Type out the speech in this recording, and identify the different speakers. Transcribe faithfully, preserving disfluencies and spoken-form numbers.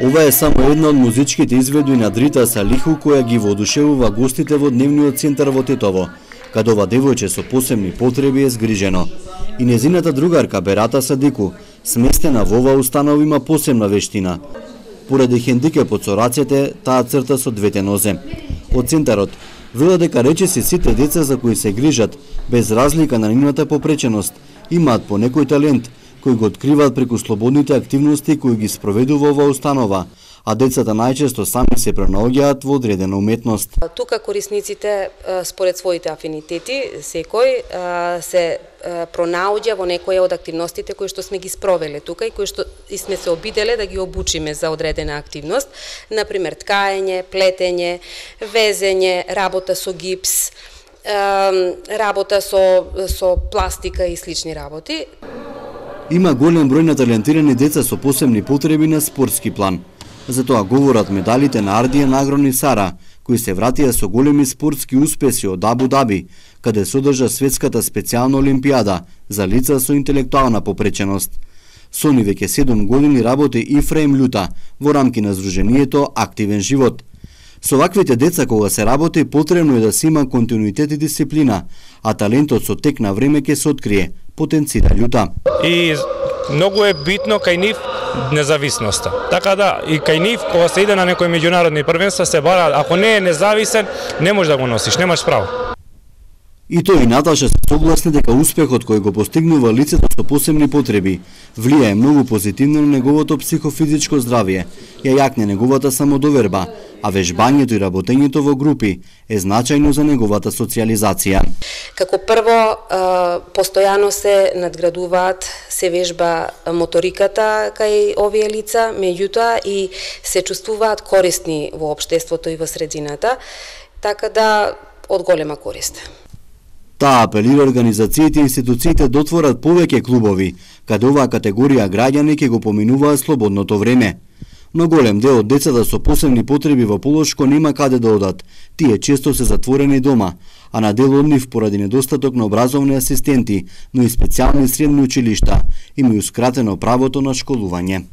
Speaker 1: Ова е само една од музичките изведби на Дрита Салиху која ги воодушевува гостите во дневниот центар во Тетово, каде ова девојче со посебни потреби е згрижено. И незината другарка Берата Садику, сместена во оваа установа, има посебна вештина. Поради хендикепот со рацете, таа црта со двете нозе. Од центарот велат дека речиси сите деца за кои се грижат, без разлика на нивната попреченост, имаат по некој талент, кои го откриваат преку слободните активности кои ги спроведува оваа установа, а децата најчесто сами се пронаоѓаат во одредена уметност.
Speaker 2: Тука корисниците според своите афинитети секој се пронаоѓа во некоја од активностите кои што сме ги спровеле тука и кои што и сме се обиделе да ги обучиме за одредена активност, например ткаење, плетење, везење, работа со гипс, работа со со пластика и слични работи.
Speaker 1: Има голем број на талентирани деца со посебни потреби на спортски план. Затоа говорат медалите на Ардијан Агрони Сара, кои се вратија со големи спортски успеси од Абу Даби, каде се одржа светската специјална олимпијада за лица со интелектуална попреченост. Со ни веќе седум години работи Ифраим Љута во рамки на Сдруженијето Активен живот. Со ваквите деца кога се работи потребно е да се има континуитет и дисциплина, а талентот со тек на време ќе се открие, потенцира Љута.
Speaker 3: И многу е битно кај нив независноста. Така да и кај нив кога се иде на некои меѓународни првенства се бара, ако не е независен, не можеш да го носиш, немаш право.
Speaker 1: И тој и Наташа се согласни дека успехот кој го постигнува лицето со посебни потреби влијае многу позитивно на неговото психофизичко здравје, ја јакне неговата самодоверба, а вежбањето и работењето во групи е значајно за неговата социјализација.
Speaker 2: Како прво, постојано се надградуваат, се вежба моториката кај овие лица, меѓутоа и се чувствуваат корисни во општеството и во средината, така да од голема корист.
Speaker 1: Таа апелира организациите и институциите да отворат повеќе клубови, каде оваа категорија граѓани ќе го поминуваат слободното време. Но голем дел од децата со посебни потреби во Полошко нема каде да одат. Тие често се затворени дома, а на дел од нив поради недостаток на образовни асистенти, но и специјални средни училишта, има иускратено правото на школување.